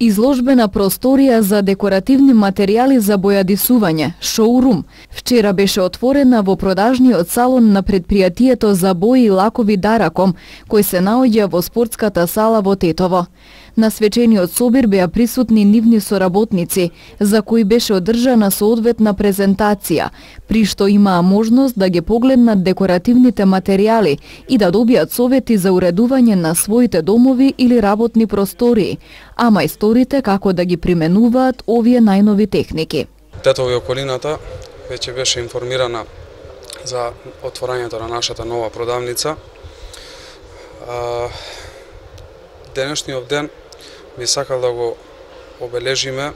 Изложбена просторија за декоративни материјали за бојадисување, шоурум, вчера беше отворена во продажниот салон на предпријатието за бои и лакови Дараком, кој се наоѓа во спортската сала во Тетово. На свечениот собир беа присутни нивни соработници, за кои беше одржана соодветна презентација, при што имаа можност да ги погледнат декоративните материјали и да добијат совети за уредување на своите домови или работни простории, а мајсторите како да ги применуваат овие најнови техники. Тетово и околината веќе беше информирана за отворањето на нашата нова продавница. Денешниот ден би сакал да го обележиме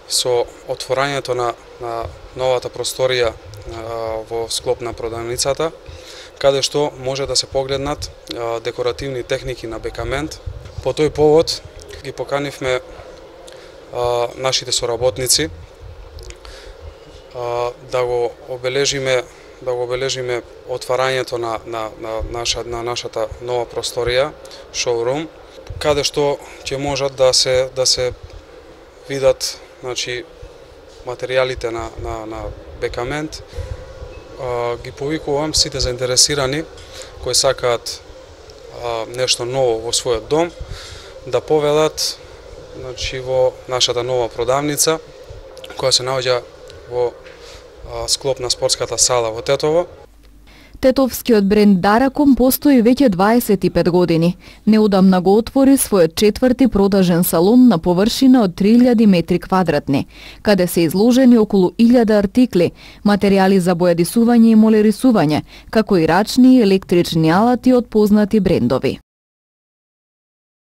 со отворањето на новата просторија во склоп на продавницата, каде што може да се погледнат декоративни техники на бекамент. По тој повод ги поканивме нашите соработници да го обележиме отварањето на нашата нова просторија, шоурум, каде што ќе можат да се видат, значи, материјалите на бекамент. Ги повикувам сите заинтересирани кои сакаат нешто ново во својот дом да повелат, значи, во нашата нова продавница која се наоѓа во склоп на спортската сала во Тетово. Тетовскиот бренд Дараком постои веќе 25 години. Неодамна го отвори својот 4ти продажен салон на површина од 3000 метри квадратни, каде се изложени околу 1000 артикли, материјали за бојадисување и молерисување, како и рачни и електрични алати од познати брендови.